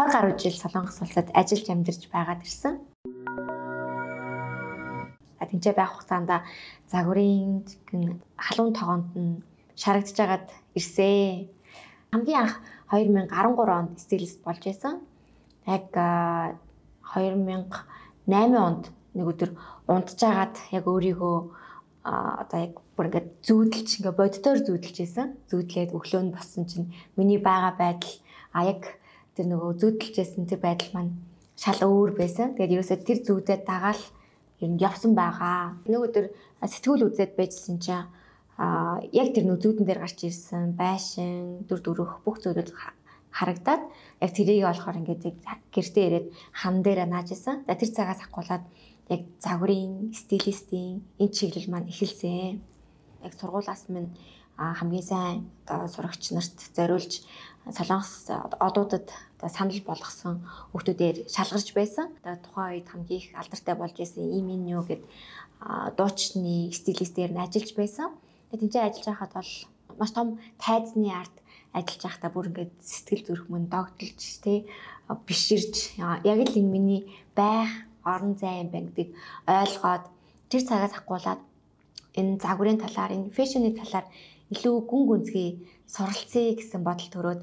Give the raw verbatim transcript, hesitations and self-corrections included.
двадцать гаруй жил Солонгос улсад ажиллаж амьдарч байгаад ирсэн. Тэнцээ байх хугацаанд загварын халуун тогоонд нь шарагдж агаад ирсэн. Хамгийн анх two thousand thirteen онд стилист болж байсан. Яг two thousand eight онд нэг өдөр унтжгаад яг өөрийгөө одоо яг бүр ингээд зүүдэлж ингээ боддоор зүүдэлж байсан. Зүүдлээд өглөө нь боссон чинь миний байгаа байдал а яг тэр нөгөө зүүдэлжсэн тэр байдал маань шал өөр байсан. Тэгээд ерөөсөө тэр зүүдэд дагаал ер нь явсан байгаа. Нэг өдөр сэтгүүл үзээд байжсэн чинь а яг тэр нөө зүүдэн дээр гарч ирсэн байшин дүр дүрх бүх зүйлүүд харагдаад яг тэрийг болохоор ингээд гэртээ ирээд хан дээр нааж исэн. За тэр цагаас ахгуулаад яг загварын стилистийн энэ чиглэл маань эхэлсэн. Яг сургуулаас минь хамгийн сайн одоо сурагч нарт зориулж Солонгос одуудад одоо санал болгосон хүмүүсээр шалгарч байсан. Одоо тухайн үед хамгийн их алдартай болж исэн ийм энэ юу гэд дуучны стилистээр нь ажиллаж байсан. Тэгээд тэнцээ ажиллаж байхад бол маш том тайзны арт ажиллаж байхдаа бүр ингээд сэтгэл зүрх мөн догдолж тий биширж яг л энэ миний байх орон зай юм байна гэдгийг ойлгоод тэр цагаас ахгуулаад энэ загварын талаар энэ фэшны талаар илүү гүн гүнзгий суралцъя гэсэн бодол төрөөд